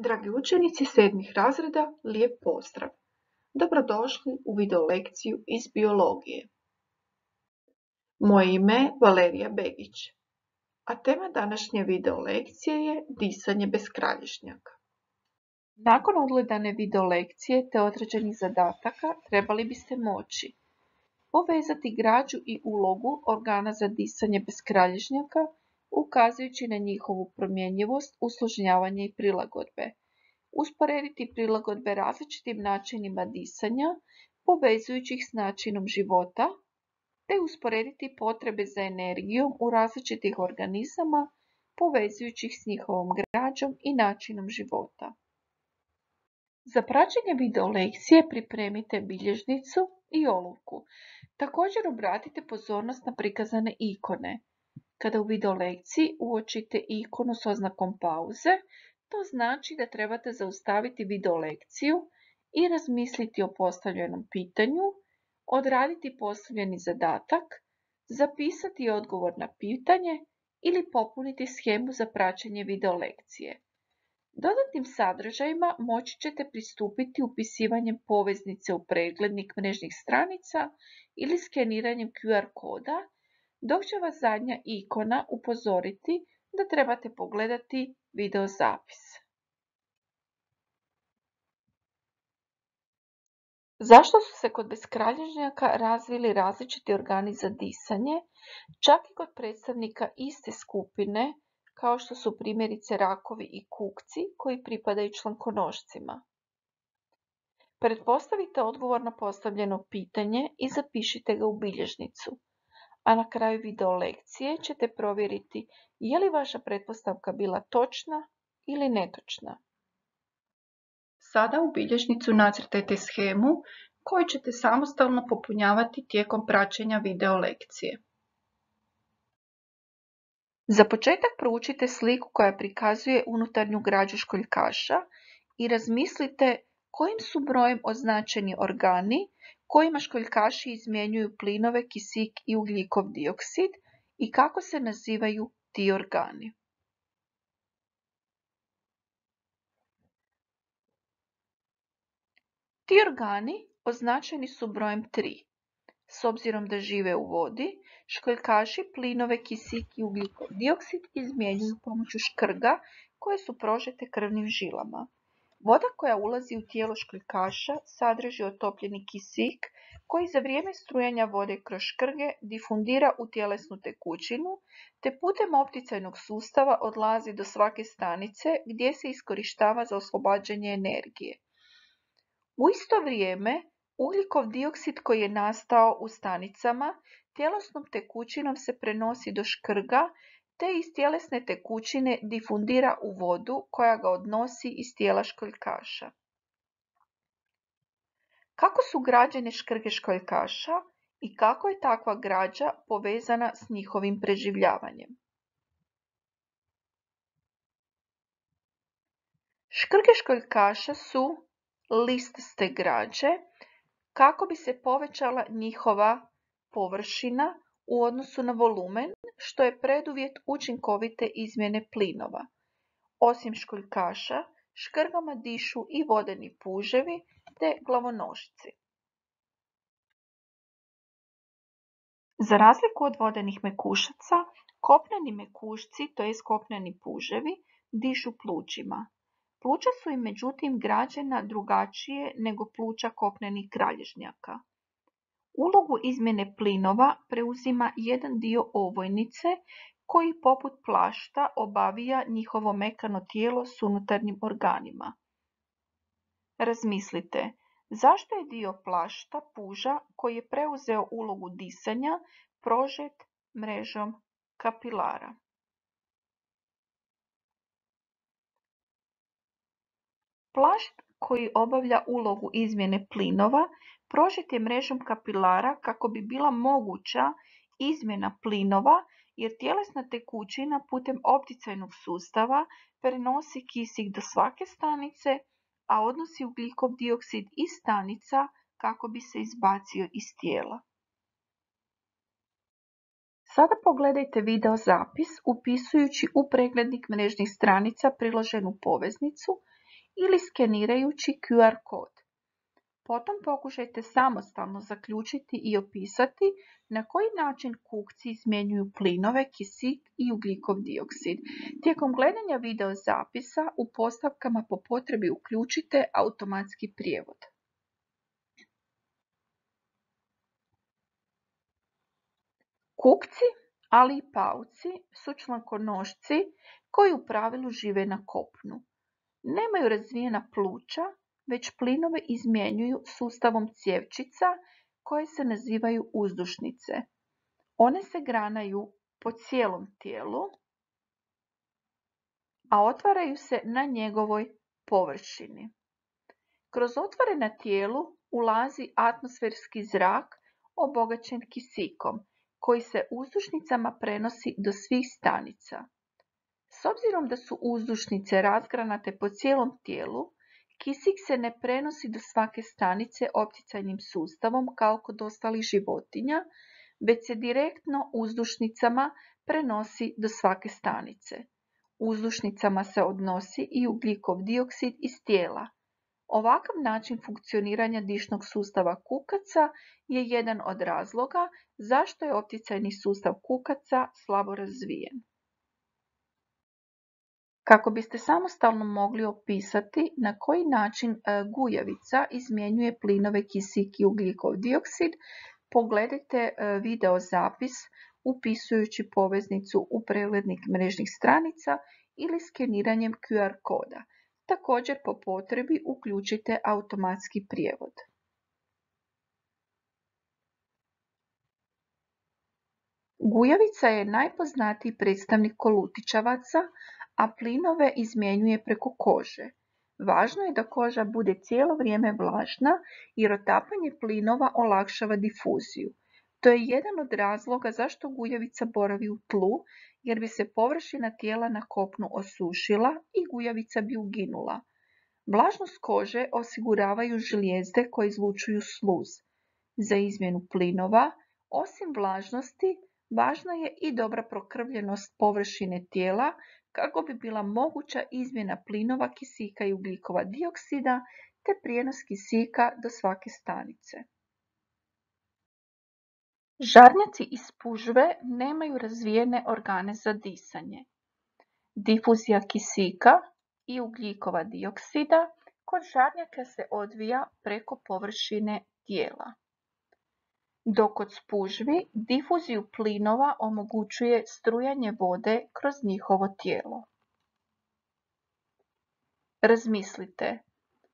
Dragi učenici 7. razreda, lijep pozdrav! Dobrodošli u video lekciju iz biologije. Moje ime je Valerija Begić, a tema današnje video lekcije je disanje bez kralježnjaka. Nakon odgledane video lekcije te određenih zadataka trebali biste moći povezati građu i ulogu organa za disanje bez kralježnjaka, ukazujući na njihovu promjenjivost, usložnjavanje i prilagodbe. Usporediti prilagodbe različitim načinima disanja, povezujući ih s načinom života, te usporediti potrebe za energijom u različitih organizama, povezujući ih s njihovom građom i načinom života. Za praćenje video lekcije pripremite bilježnicu i olovku. Također obratite pozornost na prikazane ikone. Kada u video lekciji uočite ikonu s oznakom pauze, to znači da trebate zaustaviti video lekciju i razmisliti o postavljenom pitanju, odraditi postavljeni zadatak, zapisati odgovor na pitanje ili popuniti shemu za praćenje video lekcije. Dodatnim sadržajima moći ćete pristupiti upisivanjem poveznice u preglednik mrežnih stranica ili skeniranjem QR koda, dok će vas zadnja ikona upozoriti da trebate pogledati video zapis. Zašto su se kod beskralježnjaka razvili različiti organi za disanje, čak i kod predstavnika iste skupine, kao što su primjerice rakovi i kukci koji pripadaju člankonošcima? Pretpostavite odgovor na postavljeno pitanje i zapišite ga u bilježnicu. A na kraju video lekcije ćete provjeriti je li vaša pretpostavka bila točna ili netočna. Sada u bilježnicu nacrtajte shemu koju ćete samostalno popunjavati tijekom praćenja video lekcije. Za početak proučite sliku koja prikazuje unutarnju građu školjkaša i razmislite kojim su brojem označeni organi kojima školjkaši izmjenjuju plinove kisik i ugljikov dioksid i kako se nazivaju ti organi. Ti organi označeni su brojem 3. S obzirom da žive u vodi, školjkaši plinove kisik i ugljikov dioksid izmjenjuju pomoću škrga koje su prožete krvnim žilama. Voda koja ulazi u tijelo školjkaša sadrži otopljeni kisik koji za vrijeme strujanja vode kroz škrge difundira u tjelesnu tekućinu te putem opticajnog sustava odlazi do svake stanice gdje se iskorištava za oslobađanje energije. U isto vrijeme, ugljikov dioksid koji je nastao u stanicama tjelesnom tekućinom se prenosi do škrga te iz tjelesne tekućine difundira u vodu koja ga odnosi iz tijela školjkaša. Kako su građene škrge školjkaša i kako je takva građa povezana s njihovim preživljavanjem? Škrge školjkaša su listaste građe kako bi se povećala njihova površina u odnosu na volumen, što je preduvjet učinkovite izmjene plinova. Osim školjkaša, škrgama dišu i vodeni puževi te glavonošci. Za razliku od vodenih mekušaca, kopneni mekušci, to jest kopneni puževi, dišu plućima. Pluća su im međutim građena drugačije nego pluća kopnenih kralježnjaka. Ulogu izmjene plinova preuzima jedan dio ovojnice koji poput plašta obavija njihovo mekano tijelo s unutarnjim organima. Razmislite, zašto je dio plašta puža koji je preuzeo ulogu disanja prožet mrežom kapilara? Plašt koji obavlja ulogu izmjene plinova prožet je mrežom kapilara kako bi bila moguća izmjena plinova jer tjelesna tekućina putem opticajnog sustava prenosi kisik do svake stanice, a odnosi ugljikov dioksid iz stanica kako bi se izbacio iz tijela. Sada pogledajte video zapis upisujući u preglednik mrežnih stranica priloženu poveznicu ili skenirajući QR kod. Potom pokušajte samostalno zaključiti i opisati na koji način kukci izmjenjuju plinove, kisik i ugljikov dioksid. Tijekom gledanja video zapisa u postavkama po potrebi uključite automatski prijevod. Kukci, ali i pauci su člankonošci koji u pravilu žive na kopnu. Nemaju razvijena pluća, već plinove izmjenjuju sustavom cjevčica koje se nazivaju uzdušnice. One se granaju po cijelom tijelu, a otvaraju se na njegovoj površini. Kroz otvore na tijelu ulazi atmosferski zrak obogaćen kisikom, koji se uzdušnicama prenosi do svih stanica. S obzirom da su uzdušnice razgranate po cijelom tijelu, kisik se ne prenosi do svake stanice opticajnim sustavom kao kod ostalih životinja, već se direktno uzdušnicama prenosi do svake stanice. Uzdušnicama se odnosi i ugljikov dioksid iz tijela. Ovakav način funkcioniranja dišnog sustava kukaca je jedan od razloga zašto je opticajni sustav kukaca slabo razvijen. Kako biste samostalno mogli opisati na koji način gujavica izmjenjuje plinove kisik i ugljikov dioksid, pogledajte video zapis upisujući poveznicu u preglednik mrežnih stranica ili skeniranjem QR koda. Također po potrebi uključite automatski prijevod. Gujavica je najpoznatiji predstavnik kolutičavaca, a plinove izmjenjuje preko kože. Važno je da koža bude cijelo vrijeme vlažna jer otapanje plinova olakšava difuziju. To je jedan od razloga zašto gujavica boravi u tlu, jer bi se površina tijela na kopnu osušila i gujavica bi uginula. Vlažnost kože osiguravaju žlijezde koje izlučuju sluz. Za izmjenu plinova, osim vlažnosti, važna je i dobra prokrvljenost površine tijela kako bi bila moguća izmjena plinova kisika i ugljikova dioksida te prijenos kisika do svake stanice. Žarnjaci iz spužve nemaju razvijene organe za disanje. Difuzija kisika i ugljikova dioksida kod žarnjaka se odvija preko površine tijela. Dok kod spužvi difuziju plinova omogućuje strujanje vode kroz njihovo tijelo. Razmislite,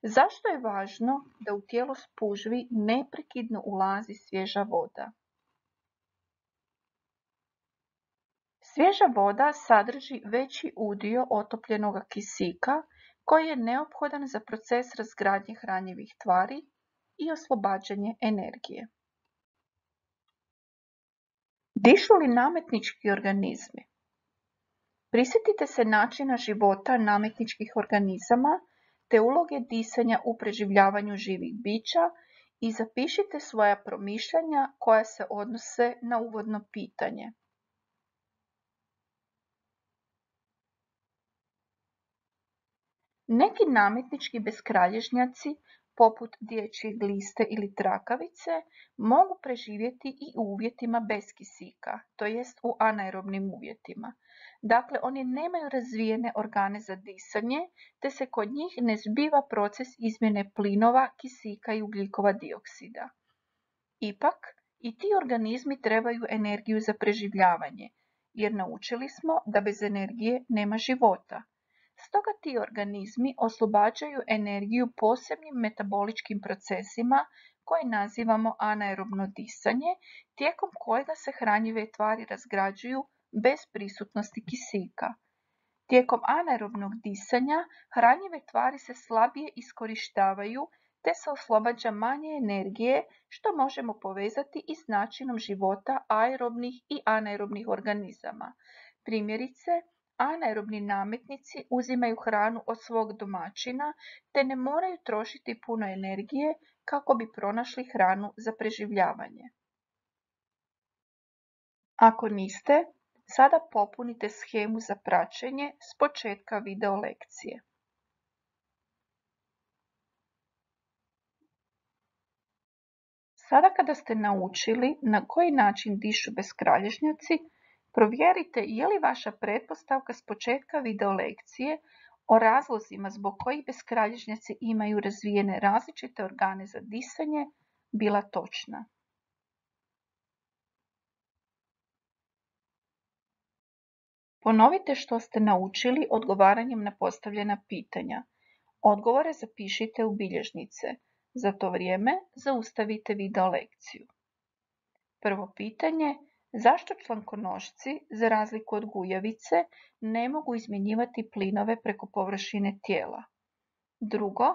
zašto je važno da u tijelo spužvi neprekidno ulazi svježa voda? Svježa voda sadrži veći udio otopljenog kisika koji je neophodan za proces razgradnje hranjivih tvari i oslobađanje energije. Dišu li nametnički organizmi? Prisjetite se načina života nametničkih organizama te uloge disanja u preživljavanju živih bića i zapišite svoja promišljanja koja se odnose na uvodno pitanje. Neki nametnički beskralježnjaci, poput dječje gliste ili trakavice, mogu preživjeti i u uvjetima bez kisika, to jest u anaerobnim uvjetima. Dakle, oni nemaju razvijene organe za disanje, te se kod njih ne zbiva proces izmjene plinova, kisika i ugljikova dioksida. Ipak, i ti organizmi trebaju energiju za preživljavanje, jer naučili smo da bez energije nema života. Stoga ti organizmi oslobađaju energiju posebnim metaboličkim procesima koje nazivamo anaerobno disanje, tijekom kojega se hranjive tvari razgrađuju bez prisutnosti kisika. Tijekom anaerobnog disanja hranjive tvari se slabije iskorištavaju te se oslobađa manje energije, što možemo povezati i s načinom života aerobnih i anaerobnih organizama. Primjerice, anaerobni nametnici uzimaju hranu od svog domaćina te ne moraju trošiti puno energije kako bi pronašli hranu za preživljavanje. Ako niste, sada popunite shemu za praćenje s početka video lekcije. Sada kada ste naučili na koji način dišu beskralježnjaci, provjerite je li vaša pretpostavka s početka video lekcije o razlozima zbog kojih beskralježnjaci imaju razvijene različite organe za disanje bila točna. Ponovite što ste naučili odgovaranjem na postavljena pitanja. Odgovore zapišite u bilježnice. Za to vrijeme zaustavite video lekciju. Prvo pitanje: zašto člankonošci, za razliku od gujavice, ne mogu izmjenjivati plinove preko površine tijela? Drugo,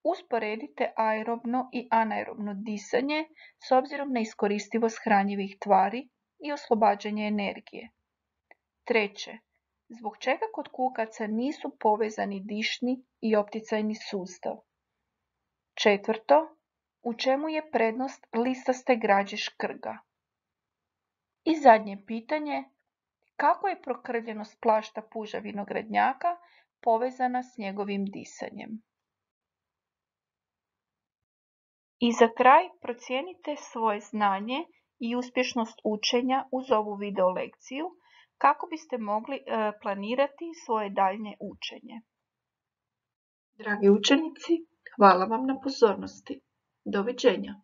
usporedite aerobno i anaerobno disanje s obzirom na iskoristivost hranjivih tvari i oslobađanje energije. Treće, zbog čega kod kukaca nisu povezani dišni i opticajni sustav? Četvrto, u čemu je prednost listaste građe škrga? I zadnje pitanje, kako je prokrvljenost plašta puža vinogradnjaka povezana s njegovim disanjem? I za kraj procijenite svoje znanje i uspješnost učenja uz ovu video lekciju kako biste mogli planirati svoje daljnje učenje. Dragi učenici, hvala vam na pozornosti. Doviđenja.